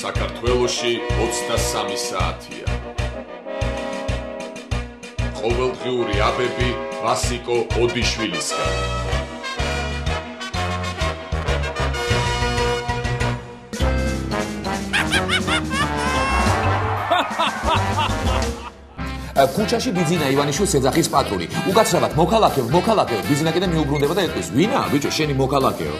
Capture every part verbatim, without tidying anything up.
საქართველოში ოცდასამი საათია. ყოველდღიური აბები ვასიკო ოდიშვილისგან. ქუჩაში ბიძინა ივანიშვილს ეძახის პატრული. უკაცრავად მოქალაქეო, მოქალაქეო, ბიძინა კიდე მიუბრუნდება და ეტყვის: "ვინა, ბიჭო, შენი მოქალაქეო."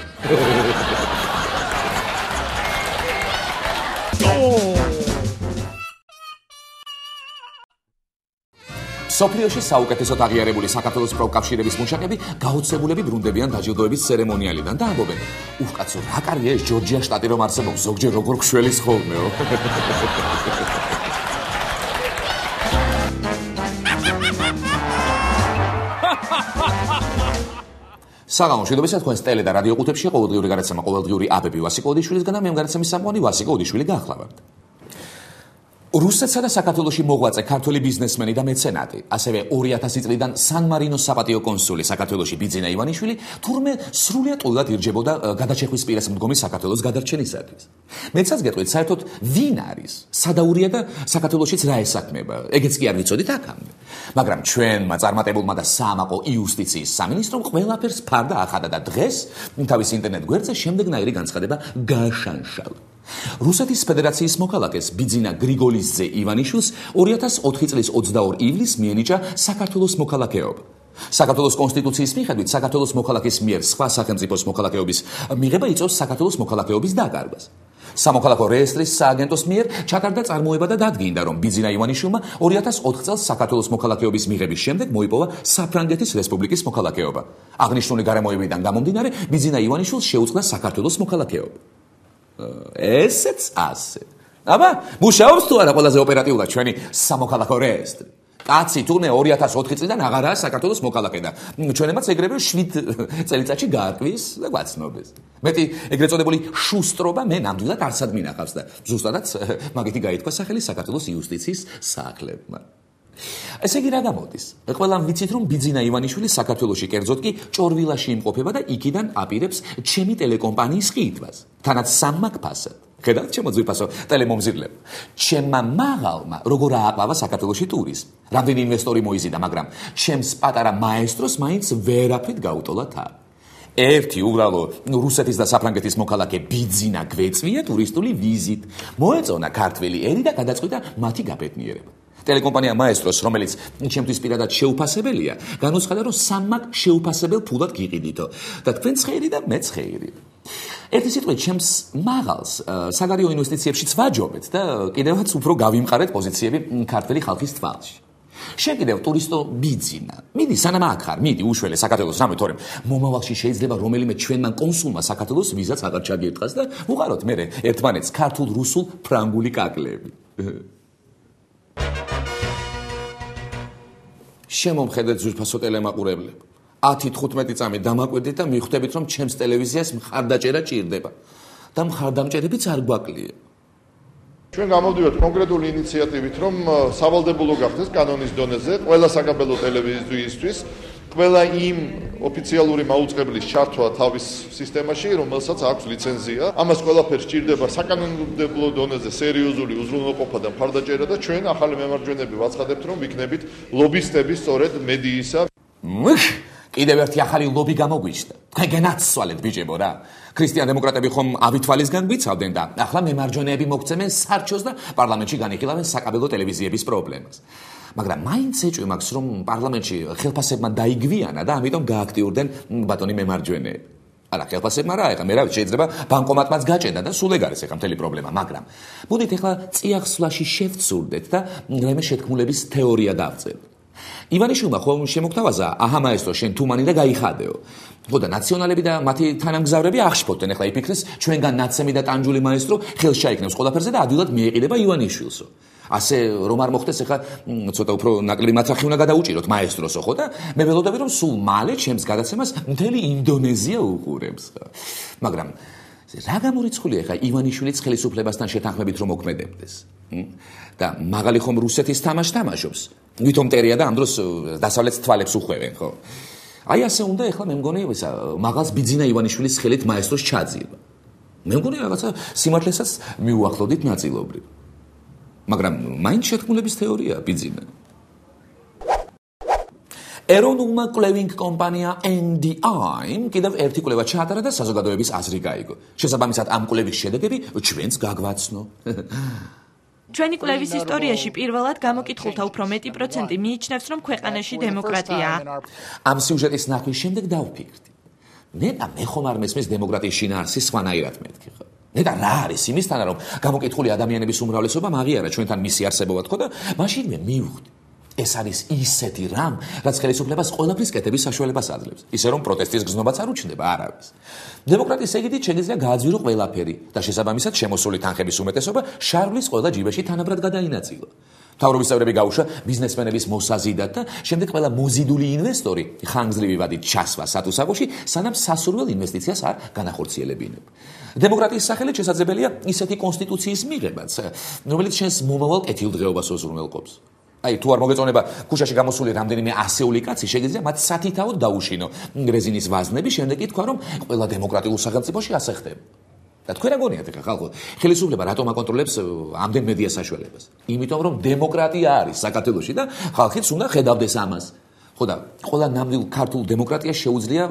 სოფლიოში საუკეთესოდ აღიარებული საქართველოს პროფკავშირების მუშაკები გაოცებულები ბრუნდებიან დაჯილდოების ცერემონიალიდან და ამბობენ: "უх, კაცო, რა კარგია ეს ჯორჯია შტატი რომ არსებობს, ზოგჯერ როგორ ქსველის ხოლმეო." საღამო მშვიდობისა თქვენს ტელე და რადიო ყუთებში ყოველდღიური გადაცემა ყოველდღიური აბები ვასიკო ოდიშვილისგან და მე მგარაცემის სამყარო ვასიკო ოდიშვილი გახლავართ. რუსეთსა და საქართველოში მოღვაწე ქართველი ბიზნესმენი და მეცენატი, ასევე ორი ათასი წლიდან სან-მარინოს საპატიო კონსული საქართველოში ბიძინა ივანიშვილი თურმე სრულიად ტყუილად ირჯებოდა გადაჭეხვის პირას მდგომი საქართველოს გადარჩენისათვის. მეცაც გეტყვით, საერთოდ ვინ არის, სადაურია და საქართველოშიც რა ესაქმება, ეგეც კი არ ვიცოდით აქამდე. მაგრამ ჩვენმა წარმატებულმა და საამაყო იუსტიციის სამინისტრომ ყველაფერს ფარდა ახადა და დღეს თავის ინტერნეტ გვერდზე შემდეგნაირი განცხადება გააშანშალა. რუსეთის ფედერაციის მოქალაქეს ბიძინა გრიგოლიძე ივანიშვილს ორი ათას ოთხი წლის ოცდაორი ივლისს მიენიჭა საქართველოს მოქალაქეობა. საქართველოს კონსტიტუციის მიხედვით საქართველოს მოქალაქის მიერ სხვა სახელმწიფოს მოქალაქეობის მიღება იწვევს საქართველოს მოქალაქეობის დაკარგვას. სამოქალაქო რეესტრის სააგენტოს მიერ ჩატარდა წარმოება და დადგინდა, რომ ბიძინა ივანიშვილმა ორი ათას ოთხ წელს საქართველოს მოქალაქეობის მიღების შემდეგ მოიპოვა საფრანგეთის რესპუბლიკის მოქალაქეობა. აღნიშნული გარემოებიდან გამომდინარე, ბიძინა ივანიშვილს შეუწყდა საქართველოს მოქალაქეობა. ესეც ასე. აბა, მუშაობს თუ არა ყველაზე ოპერატიულად ჩვენი სამოქალაქო რეესტრი? კაცი თურმე ორი ათას ოთხი წლიდან აღარაა საქართველოს მოქალაქე და ჩვენებაც ეგრევე შვიდ წელიწადში გაარკვიეს და გვაცნობეს. მეტი ეგრეთ წოდებული შუსტრობა მე ნამდვილად არსად მინახავს და ზუსტადაც მაგითი გაითქვა სახელი საქართველოს იუსტიციის სააკლებმა. ესე იგი რა გამოდის? ყველამ ვიცით, რომ ბიძინა ივანიშვილი საქართველოში კერძოდ კი ჭორვილაში იმყოფება და იქიდან აპირებს ჩემი ტელეკომპანიის ყიდვას. თანაც სამმაკ ფასად. ხედავთ ჩემო ძვირფასო ტელემომზირლებო. ჩემმა მაღალმა როგორ ააყვავა საქართველოში ტურიზმი. რამდენი ინვესტორი მოიზიდა, მაგრამ ჩემს პატარა მაესტროს მაინც ვერაფრით გაუტოლა თავი. ერთი უბრალო რუსეთის და საფრანგეთის მოქალაქე ბიძინა გვეწვია ტურისტული ვიზით. მოეწონა ქართველი ერი და გადაწყვიტა მათი გაბედნიერება. ტელეკომპანია მაესტროს, რომელიც ჩემთვის პირადად შეუფასებელია, განუცხადა, რომ სამმაკ შეუფასებელ ფულად გიყიდითო და თქვენც ხეირი და მეც ხეირი. ერთი სიტყვით, ჩემს მაღალს საგარეო ინვესტიციებშიც ვაჯობეთ და კიდევაც უფრო გავიმყარეთ პოზიციები ქართველი ხალხის თვალში. შენ კიდევ ტურისტო ბიძინა. მიდი, სანამ აქ ხარ, მიდი უშველე საქართველოს რამე, თორემ მომავალში შეიძლება რომელიმე ჩვენმა კონსულმა საქართველოს ვიზაც აღარ ჩაგირთხას და უყაროთ მერე ერთმანეთს ქართულ, რუსულ, ფრანგული კაკლები. შემომხედეთ ზურფასო ტელემაყურებლებო. ათი თხუთმეტი წამი დამაკვირდით და მიხვდებით, რომ ჩემს ტელევიზიას მხარდაჭერა ჭირდება და მხარდამჭერებიც არ გვაკლია. ჩვენ გამოვდივართ კონკრეტული ინიციატივით, რომ სავალდებულო გახდეს კანონის დონეზე ყველა საკაბელო ტელევიზიისთვის ყველა იმ ოფიციალური მაუწყებლის ჩართვა თავის სისტემაში, რომელსაც აქვს ლიცენზია. ამას ყველაფერს ჭირდება საკანონმდებლო დონეზე სერიოზული უზრუნველყოფა და მხარდაჭერა და ჩვენ ახალი მემარჯვენეები ვაცხადებთ, რომ ვიქნებით ლობისტები სწორედ მედიისა. კიდევ ერთი ახალი ლობი გამოგვიჩნდა. თქვენ გენაცვალეთ ბიჭებო რა. ქრისტიან დემოკრატები ხომ ავითვალისგან გვიცავდნენ და ახლა მემარჯვენეები მოგცემენ სარჩოს და პარლამენტში განიხილავენ საკაბელო ტელევიზიების პრობლემას. მაგრამ მაინც ეჭვი მაქვს, რომ პარლამენტში ხელფასებმა დაიგვიანა და ამიტომ გააქტიურდნენ ბატონი მემარჯვენეები. არა, ხელფასებმა რა, ეხლა მე რა შეიძლება ბანკომატმაც გაჭედა და სულ ეგ არის ეხლა მთელი პრობლემა, მაგრამ მოდით ეხლა წიაღსვლაში შევცურდეთ და რაიმე შეთქმულების თეორია დავწერთ. ივანიშვილმა ხომ შემოგთავაზა, აჰა მაესტრო, შენ თუმანი და გაიხადეო. ხო და ნაციონალები და მათი თანამგზავრები აღშფოთდნენ, ეხლა იფიქრეს, ჩვენგან ნაცემი და ტანჯული მაესტრო ხელს ჩაიქნევს ყველაფერზე და ადვილად მიეყიდება ივანიშვილსო. ასე რომ არ მოხდეს, ეხლა ცოტა უფრო ნაკლები მათრახი უნდა გადაუჭიროთ მაესტროსო, ხო და მე ველოდები, რომ სულ მალე ჩემს გადაცემას მთელი ინდონეზია უყურებს. მაგრამ რა გამორიცხულია ეხლა ივანიშვილის ხელისუფლებასთან შეთანხმებით რომ მოქმედებდეს? და მაგალი ხომ რუსეთის თამაშს თამაშობს? ვითომ ტერია და ამ დროს დასავლეთს თვალებს უხვევენ, ხო? აი ასე უნდა ეხლა მე მგონი ისა მაღალს ბიძინა ივანიშვილის ხელით მაესტროს ჩაძირვა. მე მგონი რაღაცა სიმართლესაც მიუახლოვდით ნაწილობრივ. მაგრამ მაინც შეთქმულების თეორია ბიძინა. ეროვნულმა კვლევინგ კომპანია ენ დი აი-მ კიდევ ერთი კვლევა ჩაატარა და საზოგადოების აზრი გაიგო. შესაბამისად ამ კვლევის შედეგები ჩვენც გაგვაცნო. ჩვენი კვლევის ისტორიაში პირველად გამოკითხულთა უფრო მეტი პროცენტი მიიჩნევს, რომ ქვეყანაში დემოკრატიაა. ამ სიუჟეტის ნახვის შემდეგ დავფიქრდი. ნეტა მე ხომ არ მესმის დემოკრატიის შინაარსის სხვანაირად მეთქი ხო? ნეტა რა არის იმისთანა რომ გამოკითხული ადამიანების უმრავლესობა აღიარა ჩვენთან მისი არსებობა თქო და მაშინვე მივხვდი. ეს არის ისეთი რამ, რაც ხელისუფლებას ყველაფრის კეთების საშუალებას აძლევს. ისე რომ პროტესტის გზნობაც არ უჩნდება არავის. დემოკრატიის ეგიდით შეგიძლია გააძვირო ყველაფერი და შესაბამისად შემოსული თანხების უმეტესობა შარვლის ყველა ჯიბეში თანაბრად გადაინაწილა. მთავრობის წევრები გაუშვა ბიზნესმენების მოსაზიდად და შემდეგ ყველა მოზიდული ინვესტორი ხანგრძლივი ვადით ჩასვა სათუსაღოში, სანამ სასურველ ინვესტიციას არ განახორციელებინებ. დემოკრატიის სახელით შესაძლებელია ისეთი კონსტიტუციის მიღებაც, რომელიც შენს მომავალ კეთილდღეობას უზრუნველყოფს. აი თუ არ მოგეწონება ქუჩაში გამოსული რამდენიმე ასეული კაცი შეგიძლია მათ სათითაოდ დაუშინო რეზინის ვაზნები, შემდეგ კი თქვა რომ ყველა დემოკრატიულ სახელმწიფოში ასე ხდება. და თქვენ რა გონიათ ახლა ხალხო, ხელისუფლება რატომ აკონტროლებს ამდენ მედია საშუალებას? იმიტომ რომ დემოკრატია არის საქართველოში და ხალხიც უნდა ხედავდეს ამას. ხო და ყველა ნამდვილ ქართულ დემოკრატიას შეუძლია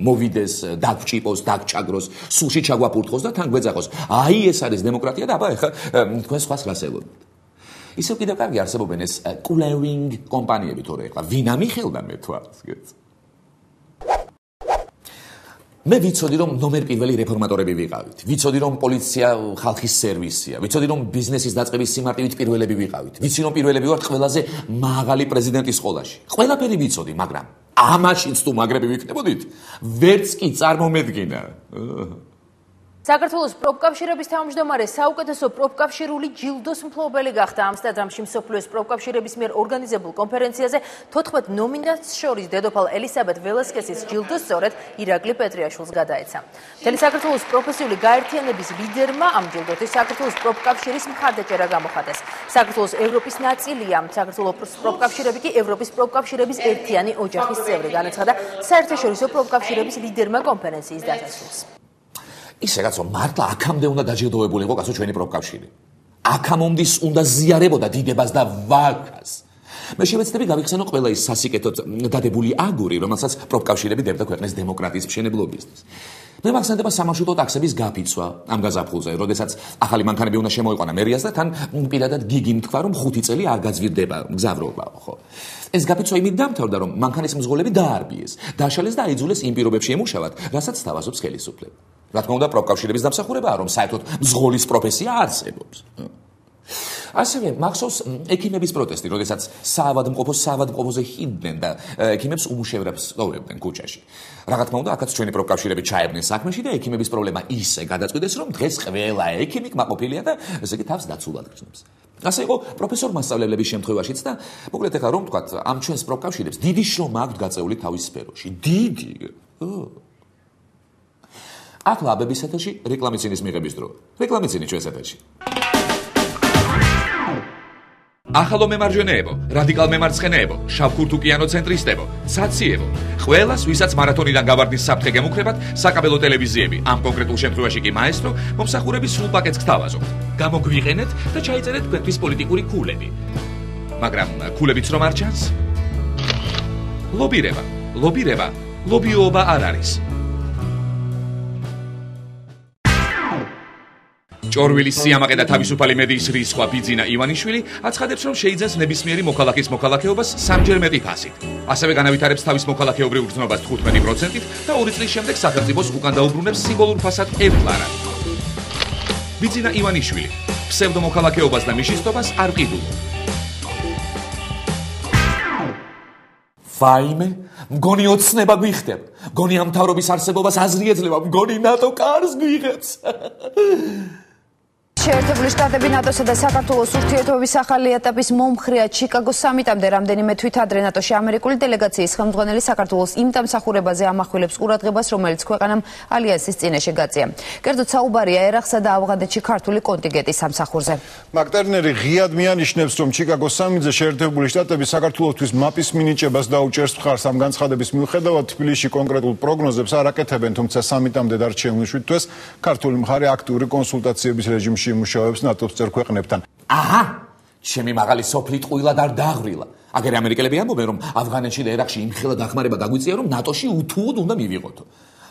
მოვიდეს, დაგჭიპოს, დაგჭაგროს, სულში ჩაგვაფურთხოს და თან გვეძახოს. აი ეს არის დემოკრატია და აბა ახლა თქვენ სხვას რას ელოდეთ? ისევ კიდევ კარგი არსებობენ ეს კვლევინგ კომპანიები თორე ახლა ვინ ამიხელდა მე თვალს გეც. მე ვიცოდი რომ ნომერ პირველი რეფორმატორები ვიყავით. ვიცოდი რომ პოლიცია ხალხის სერვისია. ვიცოდი რომ ბიზნესის დაწყების სიმარტივით პირველები ვიყავით. ვიცი რომ პირველები ვართ ყველაზე მაღალი პრეზიდენტის სკოლაში. ყველაფერი ვიცოდი, მაგრამ ამაშიც თუ მაგრები ვიქნებოდით, ვერც კი წარმომედგინა. საქართველოს პროფკავშირების თავმჯდომარე საუკეთესო პროფკავშირული ჯილდოს მფლობელი გახდა ამსტერდამში მსოფლიოს პროფკავშირების მიერ ორგანიზებულ კონფერენციაზე თოთხმეტ ნომინანტს შორის დედოფალ ელისაბედ ველასკესის ჯილდო სწორედ ირაკლი პეტრიაშვილს გადაეცა. მთელი საქართველოს პროფესიული გაერთიანების ლიდერმა ამ ჯილდოთი საქართველოს პროფკავშირის მხარდაჭერა გამოხატეს. საქართველოს ევროპის ნაწილია, საქართველოს პროფკავშირები კი ევროპის პროფკავშირების ერთიანი ოჯახის წევრი, განაცხადა საერთაშორისო პროფკავშირების ლიდერმა კონფერენციის დასასრულს. ისე კაცო, მართლა აქამდე უნდა დაჯილდოებულიყო კაცო ჩვენი პროფკავშირი. აქამომდის უნდა ზიარებოდა დიდებას და ვაკას. მე შევეცდები გავიხსენო ყველა ის სასიკეთოდ დადებული აგური, რომელსაც პროფკავშირები დებდა ქვეყნის დემოკრატიის მშენებლობისთვის. მე მახსენდება სამარშრუტო ტაქსების გაფიცვა ამ გაზაფხულზე, როდესაც ახალი მანქანები უნდა შემოიყვანა მერიას და თან პირადად გიგი მთქვა, რომ ხუთი წელი არ გაძვირდება მგზავრობა, ხო? ეს გაფიცვა იმით დამთავრდა, რომ მანქანის მძღოლები დაარბიეს, დაშალეს და აიძულეს იმ პირობებში ემუშავათ, რასაც თავაზობს ხელისუფლება. რა თქმა უნდა, პროფკავშირების დამსახურებაა, რომ საერთოდ მძღოლის პროფესია არსებობს. ასევე მახსოვს ექიმების პროტესტი, როდესაც საავადმყოფოს საავადმყოფოზე ჰიდდნენ და ექიმებს უმუშევრებს სწავლებდნენ ქუჩაში. რა თქმა უნდა, აქაც ჩვენი პროფკავშირები ჩაებდნენ საქმეში და ექიმების პრობლემა ისე გადაწყვიტეს, რომ დღეს ყველა ექიმი კმაყოფილია და ესე იგი თავს დაცულად გრძნობს. ასე იყო პროფესორ მასწავლებლების შემთხვევაშიც და მოკლედ ახლა რომ ვთქვათ, ამ ჩვენს პროფკავშირებს დიდი შრომა აქვთ გაწეული თავის სფეროში. დიდი. ახლა აბების ეთერში რეკლამიცინის მიღების დრო. რეკლამიცინი ჩვენს ეთერში. ახალო მემარჯვენეებო, რადიკალ მემარცხენეებო, შავქურთუკიანო ცენტრისტებო, ცაციებო, ყველას, ვისაც მარათონიდან გავარდნის საფრთხე გემუქრებათ, საკაბელო ტელევიზიები, ამ კონკრეტულ შემთხვევაში კი მაესტრო, მომსახურების სრულ პაკეტს გთავაზობთ. გამოგვიყენეთ და ჩაიწერეთ ქვეყნის პოლიტიკური ქულები. მაგრამ ქულებიც რომ არ ჩანს? ლობირება, ლობირება, ლობიოობა არ არის. ჭორვილის სიამაყე და თავისუფალი მედიის რისხვა ბიძინა ივანიშვილი აცხადებს, რომ შეიძენს ნებისმიერი მოქალაქის მოქალაქეობას სამჯერ მეტი ფასით. ასევე განავითარებს თავის მოქალაქეობრივ გრძნობას თხუთმეტი პროცენტით და ორი წლის შემდეგ სახელმწიფოს უკან დაუბრუნებს სიმბოლურ ფასად ევკლარა. ბიძინა ივანიშვილი ფსევდომოქალაქეობას და მიშისტობას არ ყიდულობ. ვაიმე, მგონი ოცნება გვიხდება. მგონი ამ მთავრობის არსებობას აზრი ეძლევა, მგონი ნატო კარს გვიღებს. შეერთებული შტატები ნატოსა და საქართველოს ურთიერთობების ახალი ეტაპის მომხრეა ჩიკაგოს სამიტამდე რამდენიმე თვით ადრე ნატოში ამერიკული დელეგაციის ხელმძღვანელი საქართველოს იმ დამსახურებაზე ამახვილებს ყურადღებას, რომელიც ქვეყანამ ალიანსის წინაშე გაწია. კერძოდ საუბარია ერაყსა და ავღანეთში ქართული კონტინგენტის სამსახურზე. მაკტერნერი ღიად მიანიშნებს, რომ ჩიკაგოს სამიტზე შეერთებული შტატები საქართველოსთვის მაპის მინიჭებას დაუჭერს მხარს. ამ განცხადების მიუხედავად თბილისში კონკრეტულ პროგნოზებს არ აკეთებენ, თუმცა სამიტამდე დარჩენილ შვიდ თვეს ქართული მხარე აქტიური კონსულტაციების რეჟიმში იმუშავებს ნატოს წევრ ქვეყნებთან. აჰა, ჩემი მაღალი სოფლით ყვილად არ დააღრილა. აგერ ამერიკელები ამბობენ, რომ ავღანეთში და ერაყში იმხელა დახმარება გაგვიწია, რომ ნატოში უთუოდ უნდა მივიღოთო.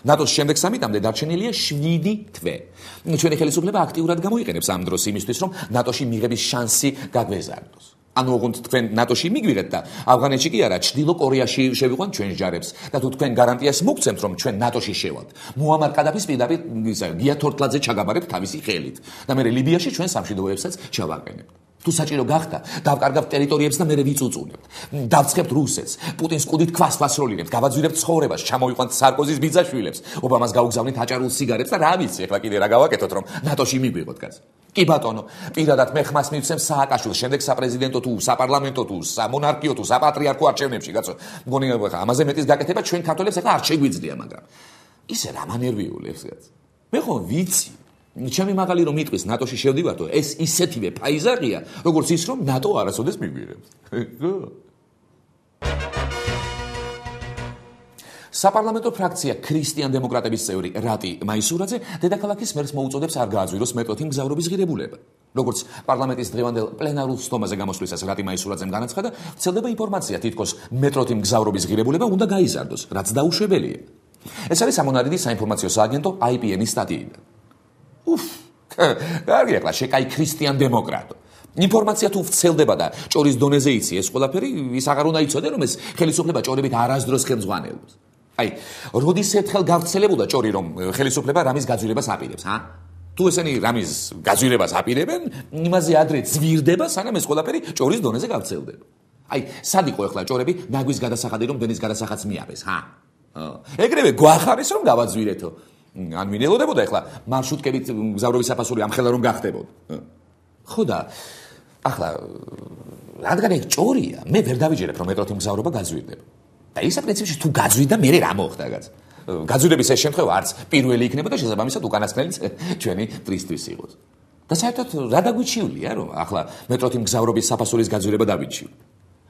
ნატოს შემდეგ სამიტამდე დარჩენილია შვიდი თვე. ჩვენი ხელისუფლება აქტიურად გამოიყენებს ამ დროს იმისთვის, რომ ნატოში მიღების შანსი გაგვეზარდოს. ანუ ოღონდ თქვენ ნატოში მიგვიღეთ და ავღანეთში კი არა, ჩრდილო კორეაში შევიყვანთ ჩვენს ჯარებს და თუ თქვენ გარანტიას მოგცემთ, რომ ჩვენ ნატოში შევალთ, მუამარ კადაფის პირდაპირ გია თორთლაძე ჩაგაბარებთ თავისი ხელით და მე ლიბიაში ჩვენ სამშვიდობოებსაც ჩავაყენებთ. თუ საჭირო გახდა, დავკარგავთ ტერიტორიებს და მე ვიწუწუნებთ. დავცხებთ რუსეთს, პუტინს კუდით ქვას ვასროლინებთ, გავაძვირებთ ცხოვრებას, ჩამოვიყვანთ სარკოზის ბიძაშვილებს, ობამას გაუგზავნით აჭარულ სიგარეტს და რა ვიცი, ახლა კიდე რა გავაკეთოთ, რომ ნატოში მიგვიღოთ კაც. კი ბატონო, პირადად მე ხმას მივცემ სააკაშვილს, შემდეგ საპრეზიდენტო თუ საპარლამენტო თუ სამონარქიო თუ საპატრიარქო არჩევნებში, კაცო. მგონი ახლა ამაზე მეტის გაკეთება ჩვენ ქართველებს ახლა არ შეგვიძლია, მაგრამ ისე რა მანერვიულებს, კაც. მე ხო ვიცი. ჩემი მაღალი რომ იტყვის ნატოში შევდივართო, ეს ისეთივე ფაიზაღია, როგორც ის რომ ნატო არასოდეს მიგვიღებს. საპარლამენტო ფრაქცია ქრისტიან დემოკრატების წევრი რატი მაისურაძე დედაქალაქის მერს მოუწოდებს არ გააძვიროს მეტროთი მგზავრობის ღირებულება. როგორც პარლამენტის დღევანდელ პლენარულ სტომაზე გამოსვლისას რატი მაისურაძემ განაცხადა, ვრცელდება ინფორმაცია, თითქოს მეტროთი მგზავრობის ღირებულება უნდა გაიზარდოს, რაც დაუშვებელია. ეს არის სამონარიდი საინფორმაციო სააგენტო აი პი ენ-ის სტატიიდან. უფ, კარგი, ახლა შეკაი ქრისტიან დემოკრატო. ინფორმაცია თუ ვრცელდება და ჭორის დონეზე იცი ეს ყველაფერი, ის აღარ უნდა იცოდე, რომ ეს ხელისუფლება ჭორებით არასდროს ხელმძღვანელობს. აი, როდის ერთხელ გავრცელებულა ჭორი, რომ ხელისუფლება რამის გაძვირებას აპირებს, ჰა? თუ ესენი რამის გაძვირებას აპირებენ, იმაზე ადრე ძვირდება, სანამ ეს ყველაფერი ჭორის დონეზე გავრცელდება. აი, სად იყო ახლა ჭორები ნაგვის გადასახადი, რომ დენის გადასახადს მიაბეს, ჰა? ეგრევე გვახარეს, რომ გავაძვირეთო. ან მინელოდებოდა ახლა მარშრუტკებით მგზავრობის საფასური ამხელა რომ გახდებოდა. ხო და ახლა რადგან ეგ ჭორია, მე ვერ დავიჯერებ რომ მეტროთი მგზავრობა გაძვირდება. და ისა პრინციპში თუ გაძვირდა, მე რა მოხდა კაც? გაძვირების ეს შემთხვევა არც პირველი იქნება და შესაბამისად უკანასკნელიც ჩვენი პრისთვის იყოს. და საერთოდ რა დაგვიჩივლია, რომ ახლა მეტროთი მგზავრობის საფასურის გაძვირება დავიჩივლ.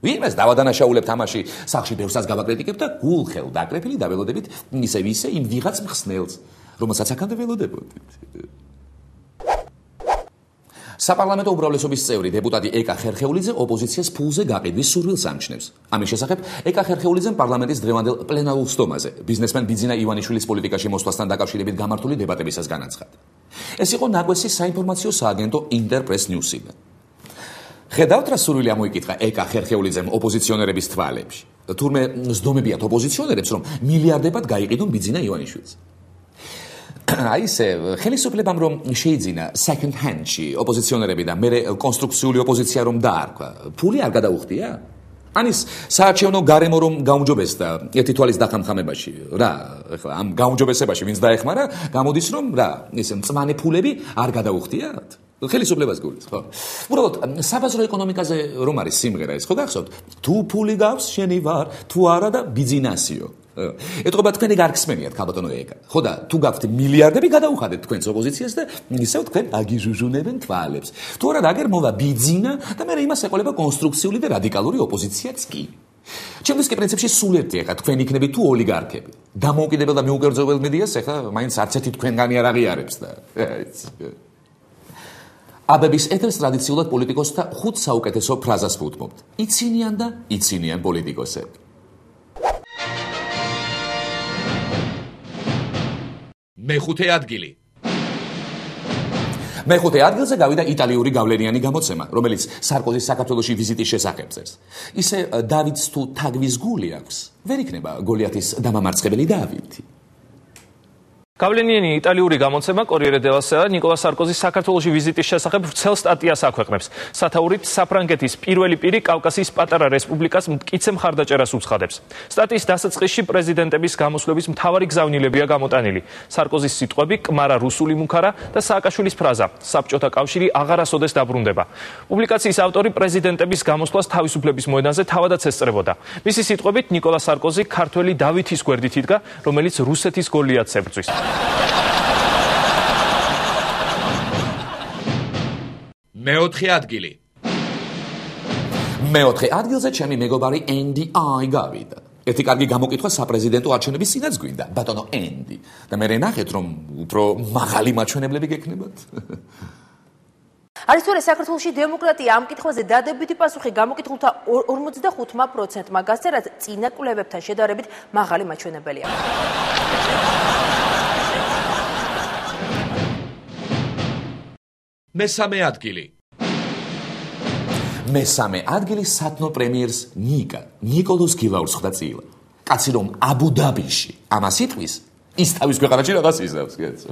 ვინმეს დავადანაშაულებთ ამაში, სახში ბევრსაც გავაკრიტიკებთ და გულხელ დაკრეფილი დაველოდებით ისე ვისე იმ ვიღაც მხსნელს, რომელსაც აქამდე ველოდებოდით. საპარლამენტო უმრავლესობის წევრი დეპუტატი ეკა ხერხეულიძე ოპოზიციას ფულზე გაყიდვის სურვილს ამჩნევს. ამის შესახებ ეკა ხერხეულიძემ პარლამენტის დღევანდელ პლენარულ სტომაზე ბიზნესმენ ბიძინა ივანიშვილის პოლიტიკაში მოსვლასთან დაკავშირებით გამართული დებატებისას განაცხადა. ეს იყო ნაგვესი საინფორმაციო სააგენტო ინტერპრეს ნიუსიდან. ხედავთ რა სურვილი ამოიკითხა ეკა ხერხეულიძემ ოპოზიციონერების თვალებში. თურმე ზდომებიათ ოპოზიციონერებს, რომ მილიარდებად გაიყიდონ ბიძინა ივანიშვილს. აი ესე ხელისუფლებამ რომ შეიძინა second hand-ში ოპოზიციონერები და მე კონსტრუქციული ოპოზიცია რომ დაარქვა, ფული არ გადაუხდია? ანის საარჩევნო გარემო რომ გაუმჯობესდა ერთი თვალის დახამხამებაში, რა, ეხლა ამ გაუმჯობესებაში ვინც დაეხმარა, გამოდის რომ რა, ესე მწმანე ფულები არ გადაუხდიათ? ხელისუფლებას გულის, ხო? უბრალოდ საბაზრო ეკონომიკაზე რომ არის სიმღერა ეს, ხო გახსოვთ? თუ ფული გავს, შენი ვარ, თუ არა და ბიზნესიო. ეთყობა თქვენი გარგსმენიათ ქალბატონო ეკა. ხო და თუ გაქვთ მილიარდები გადაუხადეთ თქვენს ოპოზიციას და ისევ თქვენ აგიჟუჟუნებენ თვალებს. თუ არა აგერ მოვა ბიძინა და მე იმას ეყოლება კონსტრუქციული და რადიკალური ოპოზიციაც კი. ჩემთვის კი პრინციპში სულ ერთი ეხა თქვენ იქნებით თუ ოლიგარქები. დამოუკიდებელ და მიუკერძოებელ მედიას ეხა მაინც არც ერთი თქვენგანი არ აღიარებს და. აბების ეთერს ტრადიციულად პოლიტიკოსთა ხუთ საუკეთესო ფრაზას ვუთმობთ. იცინიან და იცინიან პოლიტიკოსები. მეხუთე ადგილი. მეხუთე ადგილზე გავიდა იტალიური გავლენიანი გამოცემა, რომელიც სარკოზის საქართველოში ვიზიტის შესახებ წერს. ისე დავიდს თუ თაგვის გული აქვს, ვერ იქნება გოლიათის დამამარცხებელი დავითი. გავლენიანი იტალიური გამოცემა Corriere della Sera ნიკოლა სარკოზის საქართველოში ვიზიტის შესახებ ვრცელ სტატიას აქვეყნებს. სათაურით საფრანგეთის პირველი პირი კავკასიის პატარა რესპუბლიკას მტკიცე მხარდაჭერას უცხადებს. სტატიის დასაწყისში პრეზიდენტების გამოსვლების მთავარი გზავნილებია გამოტანილი. სარკოზის სიტყვები კმარა რუსული მუქარა და სააკაშვილის ფრაზა საბჭოთა კავშირი აღარასოდეს დაბრუნდება. პუბლიკაციის ავტორი პრეზიდენტების გამოსვლას თავისუფლების მოედანზე თავადაც ესწრებოდა. მისი სიტყვებით ნიკოლა სარკოზი ქართველი დავითის გვერდით იდგა, რომელიც რუსეთის გოლიათს ებრძვის. მეოთხე ადგილი. მეოთხე ადგილზე ჩემი მეგობარი ენდი აი გავიდა. ერთი კარგი გამოკითხვა საპრეზიდენტო არჩევნების წინაც გვინდა, ბატონო ენდი. და მე ნახეთ რომ უფრო მაღალი მაჩვენებლები გექნებათ. არის თუ არა საქართველოში დემოკრატია ამ კითხვაზე დადებითი პასუხი გამოკითხულთა ორმოცდახუთმა პროცენტმა გასცა, რაც წინა კვლევებთან შედარებით მაღალი მაჩვენებელია. მესამე ადგილი. მესამე ადგილი სათნო პრემიერს ნიკა ნიკოლოზ გილაურს ხვდა წილა. კაცი რომ აბუ-დაბიში ამას იტყვის, ის თავის ქვეყანაში რაღაც იზრავს, კეთს.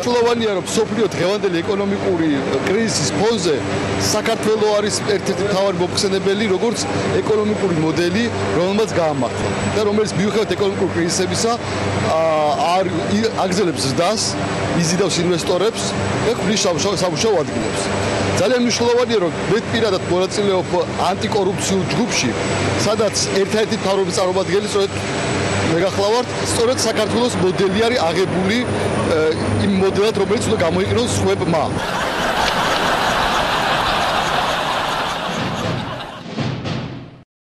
ცხოველია რომ სოფლიო დღევანდელი ეკონომიკური კრიზისის ფონზე საქართველო არის ერთ-ერთი მთავარი მომხსენებელი როგორც ეკონომიკური მოდელი, რომელმაც გაამართლა და რომელიც მიუხედავად ეკონომიკური კრიზისებისა არ აგზელებს ზრდას, იზიდავს ინვესტორებს და ხვნის სამუშაო ადგილებს. ძალიან მნიშვნელოვანია რომ მე პირადად მონაწილეობ ანტიკორუფციულ ჯგუფში, სადაც ერთ-ერთი მთავრობის წარმომადგენელი სწორედ მე გახლავართ, სწორედ საქართველოს მოდელი არის აღებული იმ მოდელად, რომელიც უნდა გამოიყენოს სხვებმა.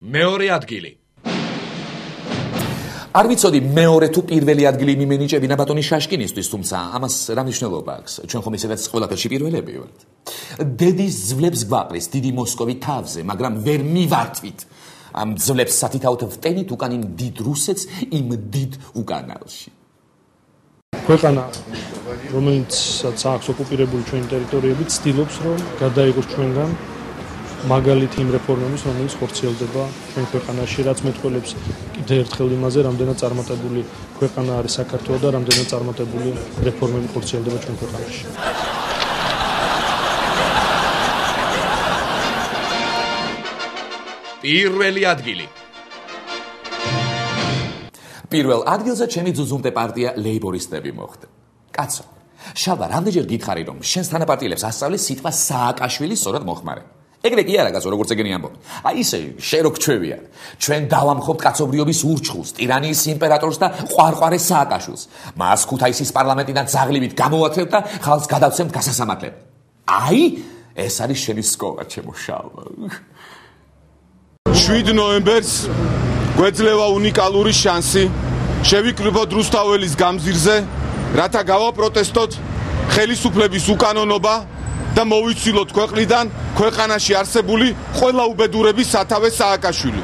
მეორე ადგილი. არ ვიცოდი მეორე თუ პირველი ადგილი მიმენიჭებინა ბატონი შაშკინისთვის, თუმცა ამას რა მნიშვნელობა აქვს? ჩვენ ხომ ისედაც ყველაფერში პირველები ვართ. დედის ძვლებს გვაყრის დიდი მოსკოვი თავზე, მაგრამ ვერ მივართვით. ამ ძვლებს სათითაოდ ვტენით უკან იმ დიდ რუსეთს, იმ დიდ უკანალში. ქვეყანა, რომელიც აქვს ოკუპირებული ჩვენი ტერიტორიები, ცდილობს რომ გადაიღოს ჩვენგან მაგალითი იმ რეფორმების, რომელიც ხორციელდება ჩვენ ქვეყანაში, რაც მეტყველებს კიდევ ერთხელ იმაზე, რამდენად წარმატებული ქვეყანა არის საქართველო და რამდენად წარმატებული რეფორმები ხორციელდება ჩვენ ქვეყანაში. პირველი ადგილი. პირველ ადგილზე ჩემი ძუძუმტე პარტია ლეიბორისტები მოხვდა. კაცო, შალვა, რამდენჯერ გითხარი რომ შენს თანაპარტიელებს ასწავლეს სიტყვა სააკაშვილი სწორად მოხმარე. ეგრე კი არა კაცო, როგორც ეგენი ამბობ. აი ისე შენ რო გჩვევია. ჩვენ დავამხობთ კაცობრიობის ურჩხულს, ტირანიის იმპერატორს და ყვარყვარე სააკაშვილს. მას ქუთაისის პარლამენტიდან ძაღლივით გამოვათრევთ და ხალხს გადავცემთ გასასამართლებლად. აი, ეს არის შენი სკოლა, ჩემო შალვა. შვიდ ნოემბერს გვეძლევა უნიკალური შანსი შევიკრიბოთ რუსთაველის გამზირზე, რათა გავაპროტესტოთ ხელისუფლების უკანონობა და მოვიცილოთ ქვეყნიდან ქვეყანაში არსებული ყველა უბედურების სათავე სააკაშვილი.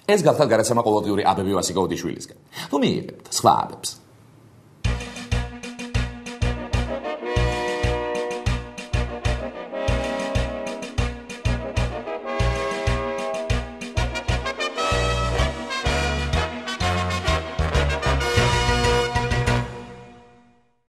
ეს გახდა გადაცემა ყოველდღიური აბები ვასიკო ოდიშვილისგან. თუ მიიღებთ სხვა აბებს